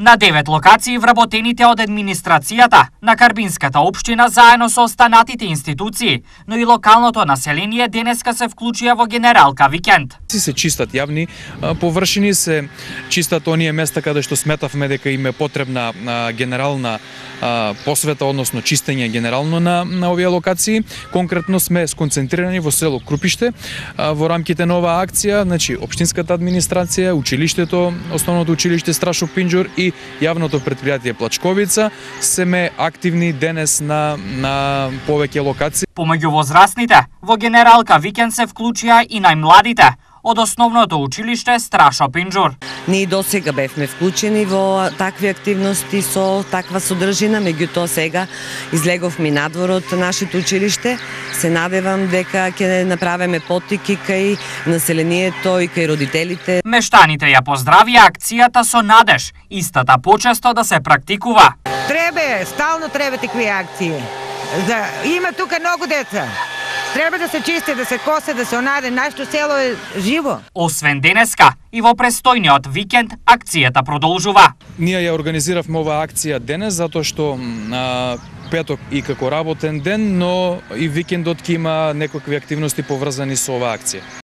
На 9 локации вработените од администрацијата на Карбинската општина заедно со останатите институции, но и локалното население денеска се вклучија во генералка викенд. Се чистат јавни површини, се чистат оние места каде што сметавме дека им е потребна генерална посвета, односно чистење генерално на овие локации. Конкретно сме сконцентрирани во село Крупиште во рамките на оваа акција, значи општинската администрација, училиштето, основното училиште Страшо Пинџур и јавното претпријатие Плачковица семе активни денес на повеќе локации. Помеѓу возрастните, во генералка викенд се вклучија и најмладите од основното училиште Страшо Пинџур. Ние досега бевме вклучени во такви активности со таква содржина, меѓутоа сега излеговме надвор од нашето училиште. Се надевам дека ќе направиме поттики кај населението и кај родителите. Мештаните ја поздравија акцијата со надеж, истата почесто да се практикува. Стално треба такви акции. Има тука многу деца. Треба да се чисти, да се косе, да се онаде. Нашето село е живо. Освен денеска, и во престојниот викенд акцијата продолжува. Ние ја организиравме оваа акција денес затоа што петок и како работен ден, но и викендот ќе има некакви активности поврзани со оваа акција.